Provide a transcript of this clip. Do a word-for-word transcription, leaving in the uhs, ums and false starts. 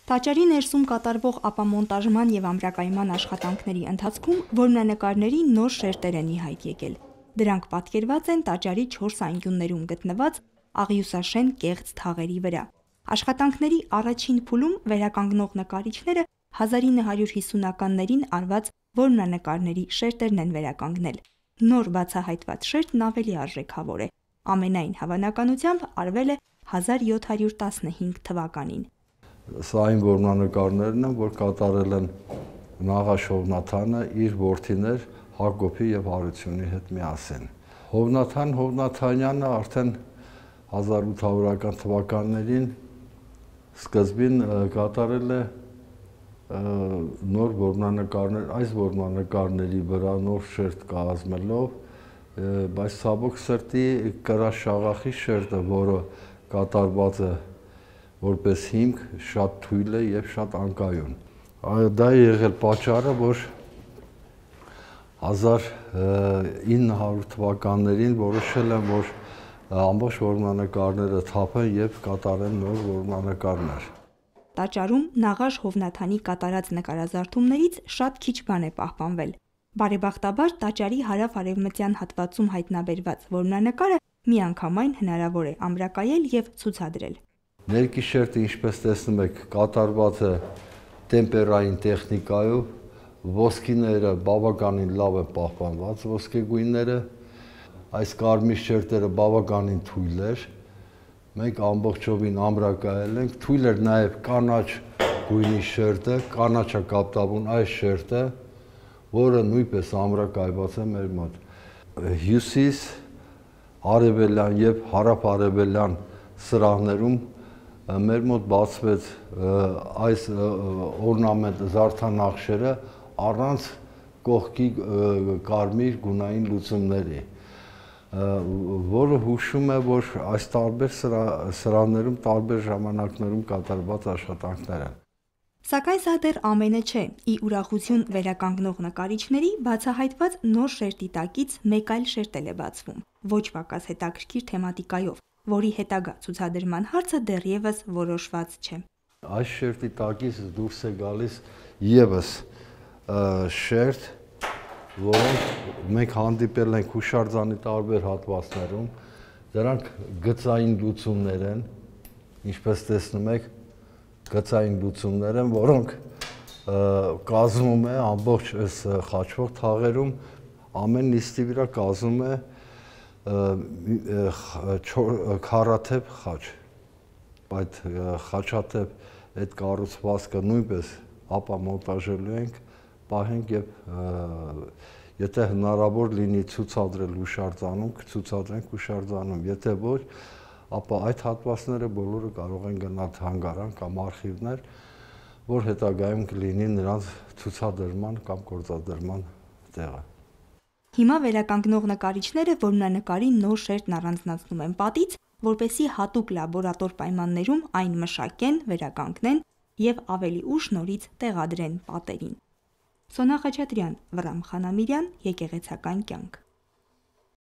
Տաճարի ներսում կատարվող ապամոնտաժման եւ ամրակայման աշխատանքների ընթացքում որմնանկարների նոր շերտեր են ի հայտ եկել։ Դրանք պատկերված են տաճարի չորս անկյուններում գտնված աղյուսաշեն կեղծ թաղերի վրա։ Աշխատանքների առաջին փուլում վերականգնող նկարիչները հազար ինը հարյուր հիսունականներին արված որմնանկարների շերտերն են վերականգնել։ Նոր բացահայտված շերտն ավելի արժեքավոր է։ Ամենայն հավանականությամբ արվել է հազար յոթ հարյուր տասնհինգ թվականին։ Սա այն որմնանկարներն են, որ կատարել են Նաղաշ Հովնաթանը իր որդիներ Հակոբի եւ Հարությունի հետ միասին։ Հովնաթան Հովնաթանյանը արդեն հազար ութ հարյուրական թվականներին սկզբին կատարել է նոր որմնանկարներ, այս որմնանկարների վրա նոր շերտ կազմելով, բայց ցավոք սրտի կրաշաղախի շերտը, որը կատարված է որպես հիմք, շատ թույլ է եւ շատ անկայուն։ Դա է եղել պատճառը, որ հազար ինը հարյուր թվականներին որոշել են, որ ամբողջ որմնանկարները թափեն եւ կատարեն նոր որմնանկարներ։ Տաճարում Նաղաշ Հովնաթանի կատարած նկարազարդումներից շատ քիչ բան է պահպանվել։ Բարեբախտաբար տաճարի հարավ-արևմտյան հատվածում հայտնաբերված որմնանկարը միանգամայն հնարավոր է ամրակայել եւ ցուցադրել։ Ներքի շերտը, ինչպես տեսնում եք, կատարված է տեմպերային տեխնիկայով, ոսկիները բավականին լավ են պահպանված, ոսկեգույնները, այս կարմիր շերտերը բավականին թույլ էր, մենք ամբողջովին ամրակայել ենք, թույլ էր նաև կանաչ գույնի շերտը, կանաչա կապտավուն այս շերտը, որը նույնպես ամրակայված է մեր մոտ։ Հյուսիս, արևելյան եւ հարավ-արևելյան սրահներում մեր մոտ բացվեց այս օրնամենտ զարդանախշերը առանց կողքի կարմիր գունային լուծումների, որը հուշում է, որ այս տարբեր սրահներում տարբեր ժամանակներում կատարված աշխատանքներ են։ Սակայն սա դեռ ամենը չէ։ Ի ուրախություն վերականգնող նկարիչների բացահայտված նոր շերտի տակից մեկ այլ շերտ էլ է բացվում, ոչ պակաս հետաքրքիր թեմատիկայով, որի հետագա ցուցադրման հարցը դեռևս որոշված չէ։ Այս շերտի տակից դուրս է գալիս եւս շերտ, որոնք մենք հանդիպել ենք հուշարձանի տարբեր հատվածներում, դրանք գծային լուծումներ են, ինչպես տեսնում եք, գծային լուծումներ են, որոնք կազմում է ամբողջ այս խաչվող թաղերում, ամեն նիստի վրա կազմում է քառաթև խաչ, այդ խաչաթև այդ կառուցվածքը նույնպես ապամոնտաժելու ենք, պահենք եւ եթե հնարավոր լինի ցուցադրել հուշարձանում, կցուցադրենք հուշարձանում, եթե ոչ, ապա այդ հատվածները բոլորը կարող են գնալ թանգարան կամ արխիվներ, որ հետագայում կլինի նրանց ցուցադրման կամ գործադրման տեղը։ Հիմա վերականգնող նկարիչները որմնանկարի նոր շերտն առանձնացնում են պատից, որպեսզի հատուկ լաբորատոր պայմաններում այն մշակեն, վերականգնեն եւ ավելի ուշ նորից տեղադրեն պատերին։ Սոնա Խաչատրյան, Վռամ Խանամիրյան, Եկեղեցական կյանք։